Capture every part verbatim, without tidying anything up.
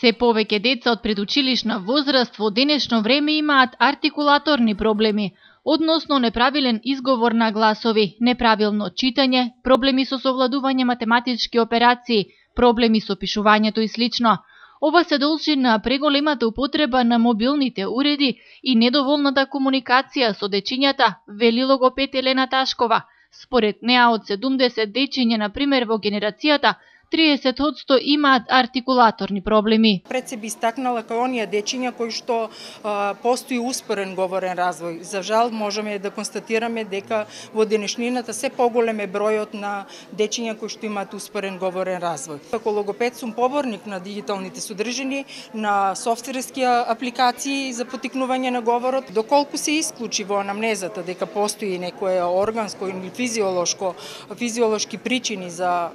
Се повеќе деца од предучилишна возраст во денешно време имаат артикулаторни проблеми, односно неправилен изговор на гласови, неправилно читање, проблеми со совладување математички операции, проблеми со пишувањето и слично. Ова се должи на преголемата употреба на мобилните уреди и недоволната комуникација со дечињата, вели логопед Елена Ташкова. Според неа, од седумдесет дечиња, на пример, во генерацијата, триесет одсто имаат артикулаторни проблеми. Пред се би истакнала кај оние дечиња кои што а, постои успорен говорен развој. За жал можеме да констатираме дека во денешнината се поголем е бројот на дечиња кои што имаат успорен говорен развој. Како логопед сум поборник на дигиталните содржини, на софтверски апликации за потикнување на говорот. Доколку се исклучи во анамнезата дека постои некое органско или физиолошко физиолошки причини за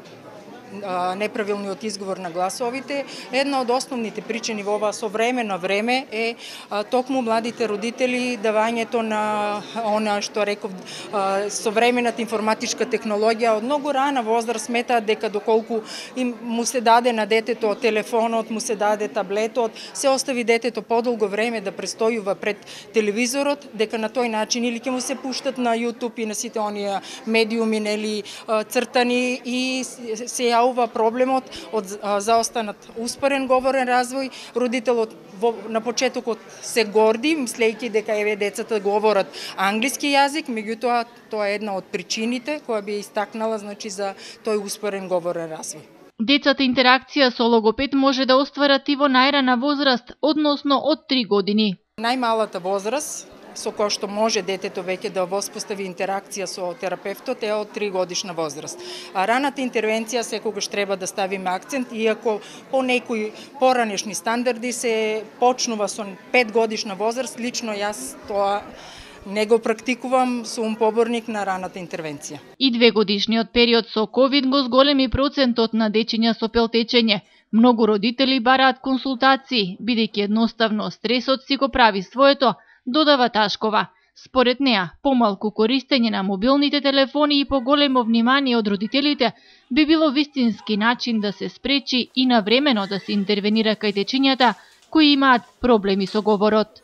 неправилниот изговор на гласовите, една од основните причини во ова современо време е токму младите родители давањето на она што реков современата информатичка технологија. Од многу рана возраст сметаат дека доколку им му се даде на детето телефонот, му се даде таблетот, се остави детето подолго време да престојува пред телевизорот, дека на тој начин или ќе му се пуштат на YouTube и на сите оние медиуми, нели, цртани, и се ова проблемот од заостанат успорен говорен развој. Родителот во, на почетокот се горди, мислејќи дека еве децата говорат англиски јазик, меѓутоа тоа е една од причините која би истакнала, значи, за тој успорен говорен развој. Децата интеракција со логопед може да остварат и во најрана возраст, односно од три години. Најмалата возраст со која што може детето веќе да воспостави интеракција со терапевтот е од три годишна возраст. А раната интервенција секогаш треба да ставиме акцент, иако по некои поранешни стандарди се почнува со пет годишна возраст, лично јас тоа не го практикувам, сум поборник на раната интервенција. И две годишниот период со ковид го зголеми процентот на дечиња со пелтечење. Многу родители бараат консултации, бидејќи едноставно стресот си го прави своето, додава Ташкова. Според неа, помалку користење на мобилните телефони и поголемо внимание од родителите би било вистински начин да се спречи и навремено да се интервенира кај дечињата кои имаат проблеми со говорот.